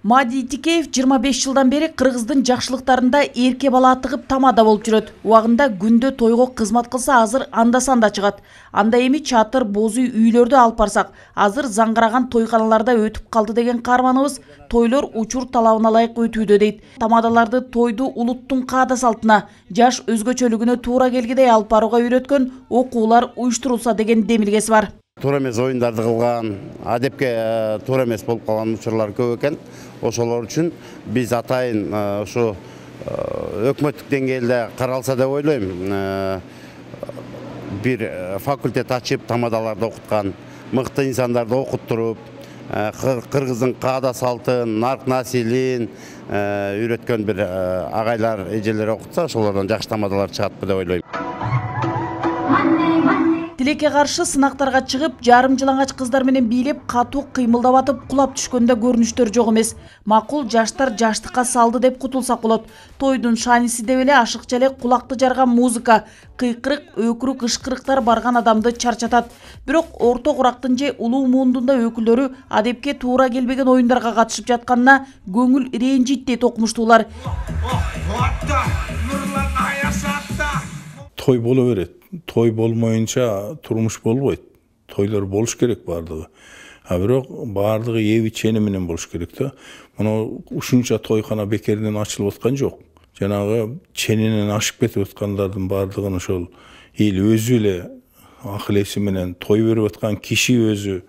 Мади Тикеев 25 жылдан бери Кыргыздын жакшылыктарында эрке бала атыгып тамада болуп жүрөт. Убагында күндө тойго кызмат кылса азыр анда-санда чыгат. Анда эми чатыр, боз үй үйлөрдө алып барсак, азыр заңгыраган тойканаларда өтүп калды деген каарманыбыз тойлор учур талабына ылайык өтүүдө дейт. Тамадаларды тойду улуттун каада салтына, жаш өзгөчөлүгүнө туура келгидей алып барууга үйрөткөн окуулар уюштурулса деген демилгеси бар. Туура эмес оюндарды кылган, адепке туура эмес болуп калган учурлар көп экен. Ошолор үчүн биз атайын ушу өкмөттүк деңгээлде каралса деп ойлойм. Бир факультет ачып, тамадаларды окуткан, мыкты инсандарды окуттуруп, Кыргыздын каада салтын, нарк насилин үйрөткөн бир агайлар, эжелер окутса, ошолордон жакшы тамадалар чыгат деп ойлойм. Тилекке каршы сынактарга чыгып, жарым жылаңач кыздар менен бийлеп, катуу кыймылдап атып, кулап түшкөндө көрүнүштөр жок эмес. Макул жаштар жаштыкка салды деп кутулсак болот. Тойдун шааниси деп эле ашыкча эле кулакты жарган музыка, кыйкырык, өкүрүк, ышкырыктар барган адамды чарчатат. Бирок орто курактын же улуу муундун да өкүлдөрү адепке туура келбеген оюндарга катышып жатканына көңүл ренжийт дейт окумуштуулар. Той боло берет. Той болмоюнча турмуш болбойт. Тойлор болуш керек бардыгы. Бирок бардыгы эби чени менен болуш керек да. Мына ушунча тойкана бекерден ачылып аткан жок. Жанагы ченинен ашып кетип аткандардын бардыгын ошол эл өзү эле акыл эси менен той берип аткан киши өзү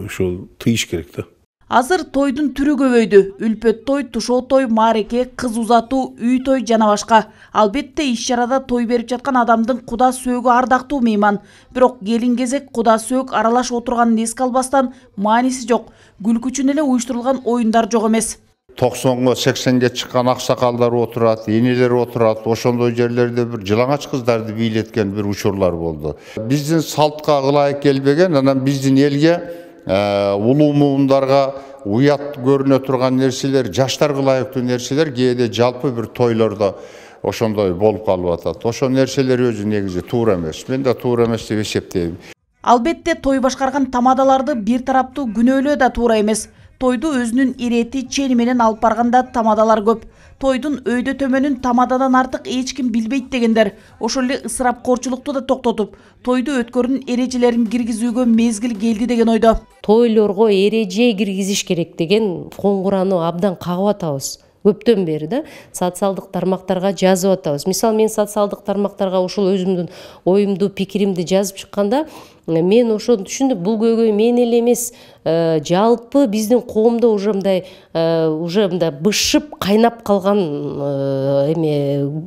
ошол тыйыш керек да. Азыр тойдун түрү көбөйдү. Үлпөт той, тушоо той, маареке, кыз узатуу, үй той жана башка. Албетте иш-чарада той берип жаткан адамдын куда сөөгү ардактуу мейман. Бирок келин кезек куда сөök аралаш отурганын эске албастан мааниси жок. Күлкү үчүн эле уюштурулган оюндар жок эмес. 90-га 80-ге чыккан аксакалдар отурат, энелер отурат. Ошондой жерлерде бир жылаңач кыздарды бийлеткен бир учурлар болду. Биздин салтка ылайык келбеген, анан биздин элге улуу муундарга уят көрүнө турган нерселер, жаштарга ылайыктуу нерселер кээде жалпы бир тойлордо ошондой болуп калып атат. Ошол нерселер өзү негизи туура эмес. Мен да туура эмес деп эсептейм. Албетте той башкарган тамадаларды бир тараптуу күнөөлөө да туура эмес. Тойду өзүнүн ирети, чени менен алып барганда тамадалар көп. Тойдун өйдө төмөнүн тамададан артык эч ким билбейт дегендер. Ошол эле ысырапкорчулукту да токтотуп, тойду өткөрүүнүн эрежелерин киргизүүгө мезгил келди деген ойдо. Тойлорго эреже киргизиш керек деген коңгуроону абдан кагып атабыз. Көптөн бери да социалдык тармактарга жазып атабыз. Мисалы мен социалдык тармактарга ушул өзүмдүн оюмду, пикиримди жазып чыкканда, мен ошону түшүндүм. Бул көйгөй мен эле эмес, жалпы биздин коомдо уже мындай бышып кайнап калган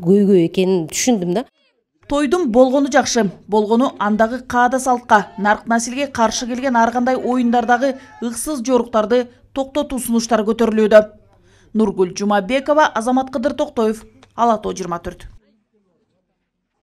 көйгөй экенин түшүндүм да. Тойдун болгону жакшы, болгону андагы каада салтка, нарк насилге каршы келген ар кандай оюндардагы ыксыз жоруктарды токтотуу сунуштары көтөрүлүүдө. Нургүл Жумабекова, Азамат Кыдыр Токтоев, Ала Тоо 24.